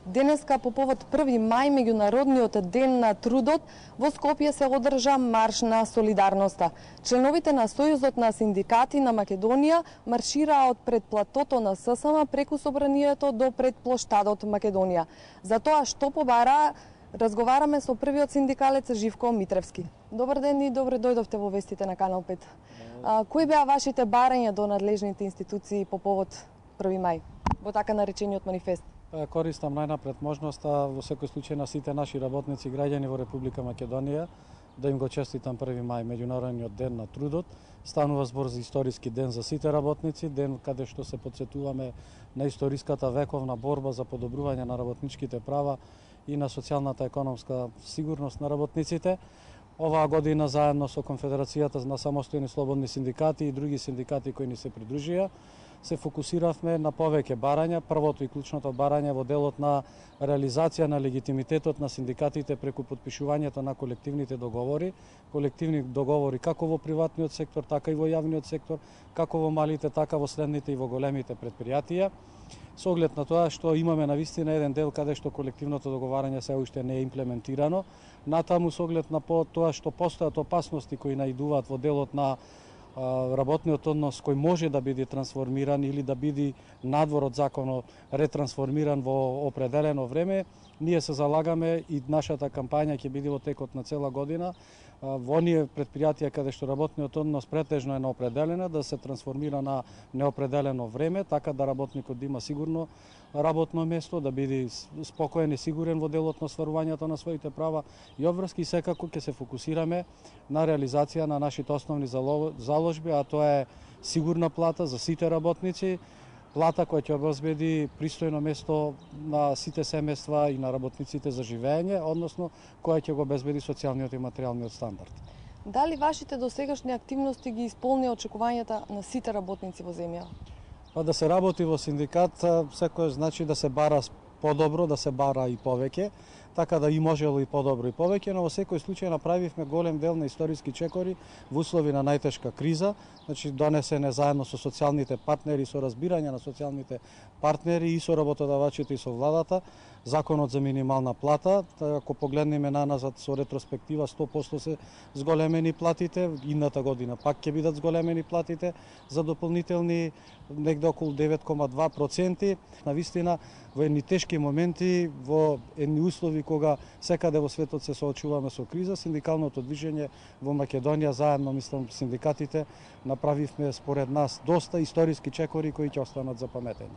Денеска по повод 1 мај, меѓународниот ден на трудот, во Скопје се одржа марш на солидарноста. Членовите на Сојузот на синдикати на Македонија маршираа од пред платото на ССМ преку собранието до пред плоштадот Македонија. За тоа што побара, разговараме со првиот синдикалец Живко Митревски. Добар ден и добре дојдовте во вестите на Канал 5. Кои беа вашите барања до надлежните институции по повод 1 мај, во така наречениот манифест? Користам најнапред можноста во секој случај на сите наши работници и граѓани во Република Македонија да им го честитам 1 мај, меѓународниот ден на трудот. Станува збор за историски ден за сите работници, ден каде што се потсетуваме на историската вековна борба за подобрување на работничките права и на социјалната економска сигурност на работниците. Оваа година заедно со Конфедерацијата на самостојни слободни синдикати и други синдикати кои ни се придружија, се фокусиравме на повеќе барања. Првото и клучното барање во делот на реализација на легитимитетот на синдикатите преку потпишувањето на колективните договори. Колективни договори како во приватниот сектор, така и во јавниот сектор, како во малите, така во средните и во големите предпријатија. Со оглед на тоа што имаме навистина еден дел каде што колективното договарање се уште не е имплементирано, натаму со оглед на тоа што постојат опасности кои наидуваат во делот на работниот однос кој може да биде трансформиран или да биде надвор од законот ретрансформиран во определено време, ние се залагаме и нашата кампања ќе биде во текот на цела година во оние предпријатија каде што работниот однос претежно е неопределена, да се трансформира на неопределено време, така да работникот да има сигурно работно место, да биде спокоен и сигурен во делот на остварувањето на своите права и обврски. Секако ќе се фокусираме на реализација на нашите основни заложби, а тоа е сигурна плата за сите работници, плата која ќе обезбеди пристојно место на сите семејства и на работниците за живење, односно која ќе го обезбеди социјалниот и материјалниот стандард. Дали вашите досегашни активности ги исполнија очекувањата на сите работници во земја? Па да се работи во синдикат, секој значи да се бара подобро, да се бара и повеќе, така да и можело и подобро и повеќе, но во секој случај направивме голем дел на историски чекори во услови на најтешка криза, значи донесене заедно со социјалните партнери, со разбирање на социјалните партнери и со работодавачите и со владата, законот за минимална плата. Ако погледнеме наназад со ретроспектива, 100% се зголемени платите, идната година пак ќе бидат зголемени платите за дополнителни негде околу 9,2%. Навистина во едни тешки моменти, во едни услови кога секаде во светот се соочуваме со криза, синдикалното движење во Македонија заедно, мислам, синдикатите направивме според нас доста историски чекори кои ќе останат запаметени.